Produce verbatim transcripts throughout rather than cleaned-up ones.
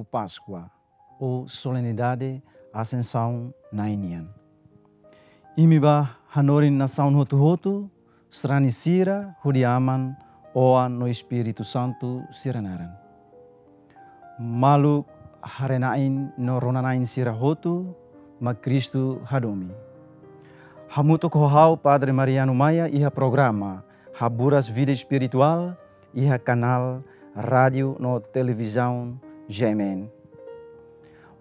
Páskua ou solenidade Asensaun Na'i nian. Imi bá hanorin nasaun hotu-hotu, sarani sira hodi Aman, Oan no Espíritu Santu sira naran. Maluk haree-na'in no rona-na'in sira hotu, mak Kristu hadomi. Hamutuk ho ha'u Padre Mariano Maia iha programa Haburas Vida Espirituál iha kanál rádiu no televizaun G M N.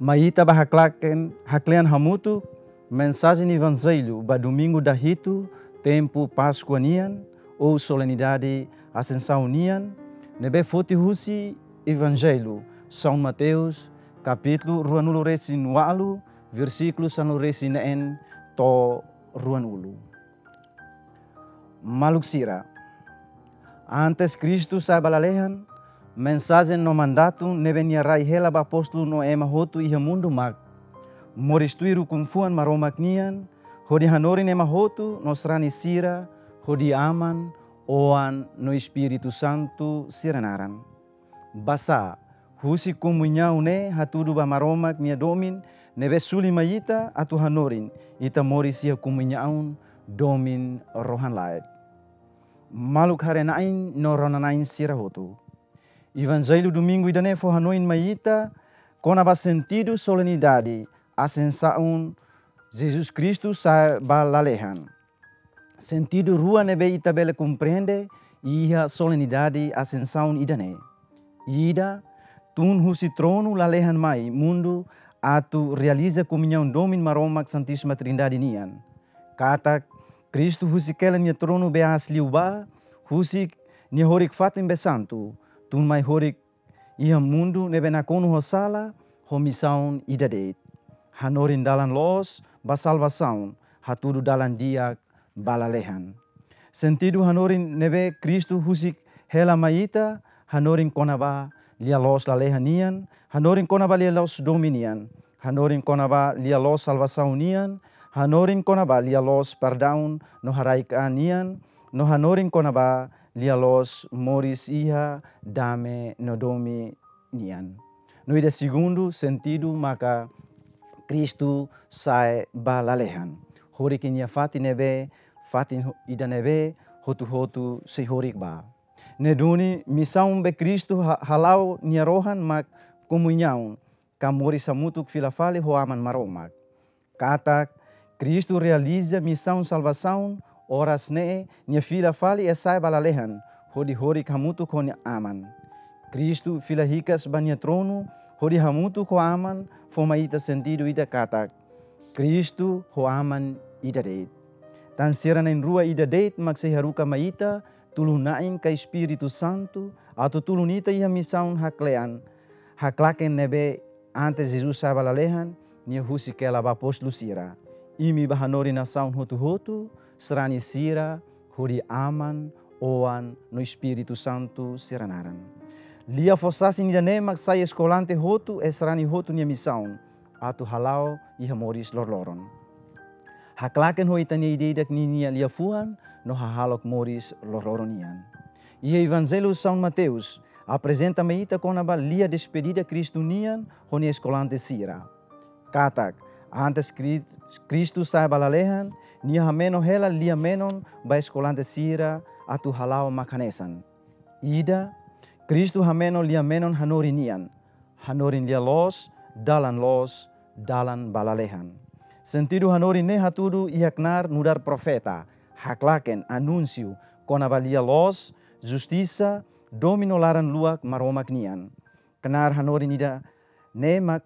Mai ita bá haklaken, haklean hamutuk mensajen Evanjellu ba Domingu dahitu tempu Páskua nian, ou solenidade Asensaun nian, ne'ebé foti husi Evanjellu São Mateus, kapítulu ruanulu-resin-ualu, versíkulu sanulu-resin-neen to'o ruanulu. Maluk sira, antes Kristu sa'e ba lalehan, mensajen no mandatu ne'ebé Nia rai hela ba apóstolu no ema hotu iha mundu mak: moris tuir ukun-fuan Maromak nian, hodi hanorin ema hotu no sarani sira hodi Aman, Oan no Espíritu Santu sira naran. Basá, husi komuñaun ne'e hatudu ba Maromak nia domin ne'ebé suli mai ita atu hanorin, ita moris iha komuñaun domin rohan-laek. Maluk haree-na'in no rona-na'in sira hotu, Evanjellu Domingu ida-ne'e fó hanoin mai ita kona-ba sentidu solenidade Asensaun, Jesus Kristu sa'e ba lalehan. Sentidu rua ne'ebé ita bele komprende iha solenidade Asensaun ida-ne'e. Ida, tun husi tronu lalehan mai mundu atu realiza komuñaun domin Maromak Santísima Trindade nian. Katak Kristu husik hela nia tronu be aas liubá, husik nia horik-fatin be santu, tun mai horik iha mundu ne'ebé nakonu ho sala, ho misaun ida de'it: hanorin dalan loos ba salvasaun, hatudu dalan di'ak ba lalehan. Sentidu hanorin ne'ebé Kristu husik hela mai ita, hanorin kona-ba lia-loos lalehan nian, hanorin kona-ba lia-loos domin nian, hanorin kona-ba lia-loos salvasaun nian, hanorin kona-ba lia-loos perdaun no haraik-an nian, no hanorin kona-ba lia-loos moris iha dame no domin nian. No ida segundu sentidu maka Kristu sa'e ba lalehan, horik nia fatin ne'ebé, fatin ho-, ida ne'ebé hotu-hotu sei horik ba. Ne'e duni misaun be Kristu ha-, hala'o nia rohan mak komuñaun, ka moris hamutuk fila fali ho Aman Maromak. Katak Kristu realiza misaun salvasaun oras ne'e, nia fila fali iha sa'e ba lalehan, hodi horik hamutuk ho nia Aman. Kristu fila hikas ba nia tronu, hodi hamutuk ho Aman, fó mai ita sentidu ida katak Kristu ho Aman ida de'it. Tan sira na'in-rua ida de'it mak sei haruka mai ita, tulun-na'in ka Espíritu Santu, atu tulun ita iha misaun haklean, haklaken ne'ebé antes Jesus sa'e ba lalehan, nia husik hela ba apóstolu sira: imi bá hanorin nasaun hotu-hotu, sarani sira hodi Aman, Oan no Espíritu Santu sira naran. Lia fó-sasin ida-ne'e mak sai eskolante hotu, eh, sarani hotu nia misaun, atu hala'o iha moris loroloron. Haklaken ho ita-nia ida-idak ninia liafuan no hahalok moris loroloron nian. Iha Evanjellu São Mateus, aprezenta mai ita kona-ba lia despedida Kristu nian ho nia eskolante sira. Katak, antes Kri-, Kristu sa'e ba lalehan, nia hameno hela lia-menon ba eskolante sira atu hala'o mak hanesan. Ida, Kristu hameno lia-menon hanorin nian: hanorin lia-loos, dalan loos, dalan ba lalehan. Sentidu hanorin ne'e hatudu iha knaar nu'udar profeta, haklaken, anúnsiu kona-ba lia-loos, justisa, domin no laran-luak Maromak nian. Knaar hanorin ida-ne'e mak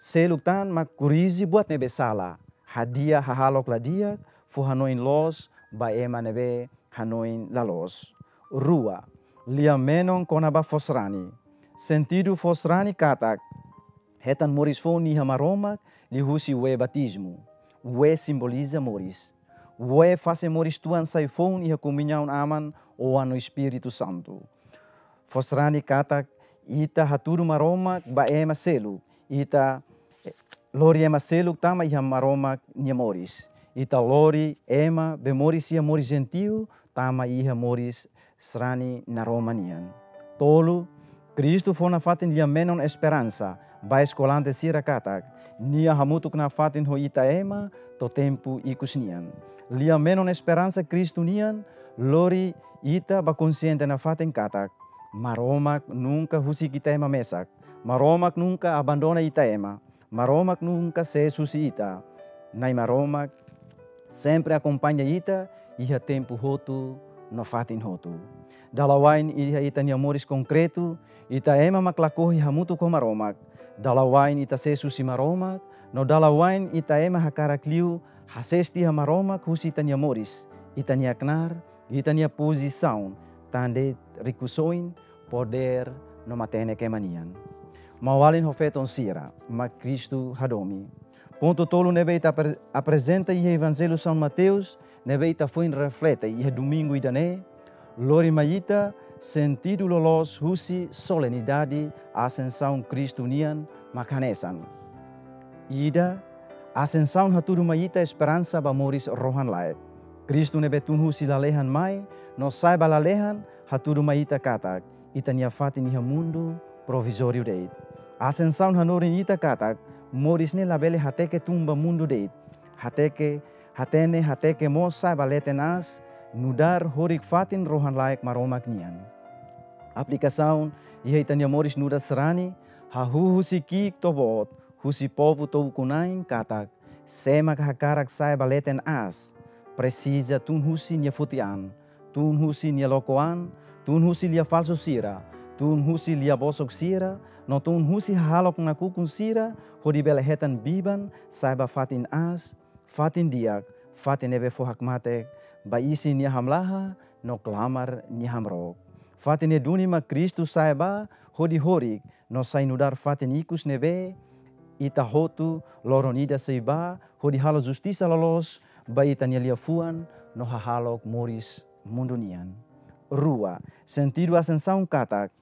seluk tan mak korrije buat ne'ebé sala, hadi'a hahalok la di'ak, fó hanoin loos ba ema ne'ebé hanoin la loos. Rua, lia-menon kona-ba fó sarani. Sentidu fó sarani katak hetan moris foun iha Maromak liuhusi wee batizmu. Wee simboliza moris. Wee fase moris-tuan sai foun iha komuñaun Aman, Oan no Espíritu Santu. Fó sarani katak ita hatudu Maromak ba ema seluk, ita, eh, lori ema seluk tama iha Maromak nia moris. Ita lori ema be moris iha moris jentiu tama iha moris sarani naroman nian. Tolu, Kristu fó nafatin lia-menon esperansa ba eskolante sira katak Nia hamutuk nafatin ho ita ema to'o tempu ikus nian. Lia-menon esperansa Kristu nian lori ita ba konsiente nafatin katak Maromak nunka husik ita ema mesak. Maromak nunka abandona ita ema. Maromak nunka sees husi ita. Na'i Maromak sempre akompaña ita iha tempu hotu no fatin hotu. Dala wa'in iha ita-nia moris konkretu, ita ema mak lakohi hamutuk ho Maromak. Dala wa'in ita sees husi Maromak, no dala wa'in ita ema hakarak liu hasees tiha Maromak husi ita-nia moris, ita-nia knaar, ita-nia pozisaun, tan de'it rikusoin, podér no matenek ema nian. Maun-alin ho feton sira mak Kristu hadomi. Pontu tolu ne'ebé ita apre-, aprezenta iha Evanjellu São Mateus, ne'ebé ita foin reflete iha domingu ida-ne'e, lori mai ita sentidu loloos husi solenidade Asensaun Kristu nian mak hanesan. Ida, Asensaun hatudu mai ita esperansa ba moris rohan-laek. Kristu ne'ebé tun husi lalehan mai no sa'e ba lalehan hatudu mai ita katak ita-nia fatin iha mundu provizóriu de'it. Asensaun hanorin ita katak moris ne'e labele hateke tun ba mundu de'it. Hateke, hatene, hateke mós sa'e ba leten aas, nu'udar horik fatin rohan-laek Maromak nian. Aplikasaun iha ita-nia moris nu'udar sarani, hahú husi ki'ik to'o boot, husi povu to'o ukun-na'in katak, sé mak hakarak sa'e ba leten aas, presiza tun husi nia foti an, tun husi nia loko an, tun husi lia falsu sira, tun husi lia bosok sira, no tun husi hahalok nakukun sira, hodi bele hetan biban sa'e ba fatin aas, fatin di'ak, fatin ne'ebé fó hakmatek ba isin nia hamlaha no klamar nia hamrook. Fatin ne'e duni mak Kristu sa'e ba hodi horik no sai nu'udar fatin ikus ne'ebé ita hotu loron ida sei ba hodi halo justisa loloos ba ita-nia liafuan no hahalok moris mundu nian. Rua, sentidu Asensaun katak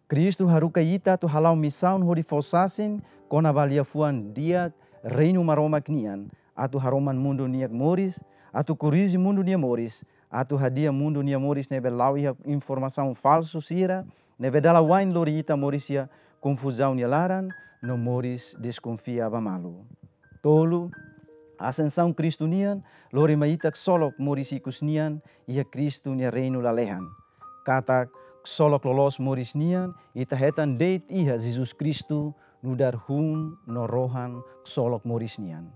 Kristu haruka ita atu hala'o misaun hodi fó sasin kona-ba liafuan di'ak Reinu Maromak nian, atu haroman mundu nia moris, atu korrije mundu nia moris, atu hadi'a mundu nia moris ne'ebé la'o iha informasaun falsu sira, ne'ebé dala wa'in lori ita moris iha konfuzaun nia laran, no moris deskonfia ba malu. Tolu, Asensaun Kristu nian lori mai ita ksolok moris ikus nian iha Kristu nia Reinu lalehan. Katak ksolok loloos moris nian ita hetan de'it iha Jesus Kristu nu'udar hun no rohan ksolok moris nian.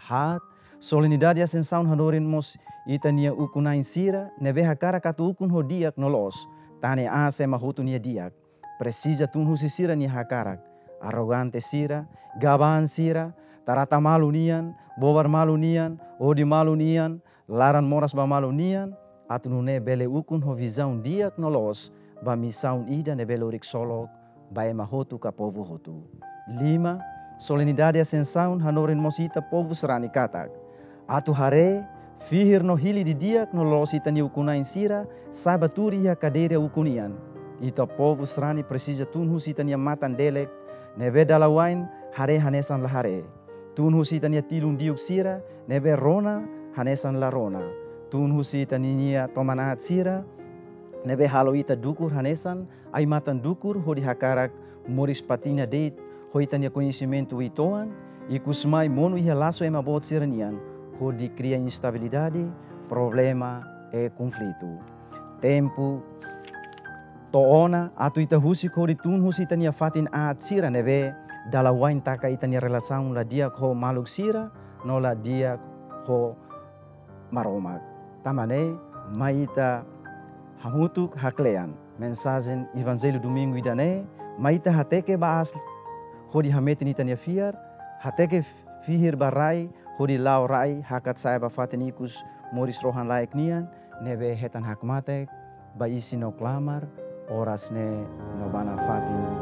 Haat, solenidade Asensaun hanorin mós ita-nia ukun-na'in sira ne'ebé hakarak atu ukun ho di'ak no loos, tan ne'e aas ema hotu nia di'ak. Presiza tun husi sira-nia hakarak, arrogante sira, gaba-an sira, trata malu nian, bobar malu nian, odi malu nian, laran moras ba malu nian, atu nune'e bele ukun ho vizaun di'ak no loos ba misaun ida ne'ebé lori ksolok ba ema hotu ka povu hotu. Lima, solenidade Asensaun hanorin mós ita povu sarani katak atu haree, fihir no hili didi'ak no loos ita-nia ukun-na'in sira sa'e ba tuur iha kadeira ukun nian. Ita povu sarani presiza tun husi ita-nia matan-delek ne'ebé dala wa'in haree hanesan la haree. Tun husi ita-nia tilun diuk sira ne'ebé rona hanesan la rona. Tun husi ita-nia toman aat sira ne'ebé halo ita dukur hanesan ai-matan dukur hodi hakarak moris patiña de'it ho ita-nia koñesimentu uitoan, ikus mai monu iha lasu ema boot sira nian, hodi kria instabilidade, problema i konflitu. Tempu to'o ona atu ita husik hodi tun husi ita-nia fatin aat sira ne'ebé dala wa'in taka ita-nia relasaun la di'ak ho maluk sira, no la di'ak ho Maromak. Tanba ne'e, mai ita hamutuk haklean mensajen Evanjellu domingu ida-ne'e, mai ita hateke ba aas hodi hametin ita-nia fiar, hateke fihir ba rai hodi la'o rai hakat sa'e ba fatin ikus moris rohan-laek nian, ne'ebé hetan hakmatek ba isin no klamar oras ne'e no ba nafatin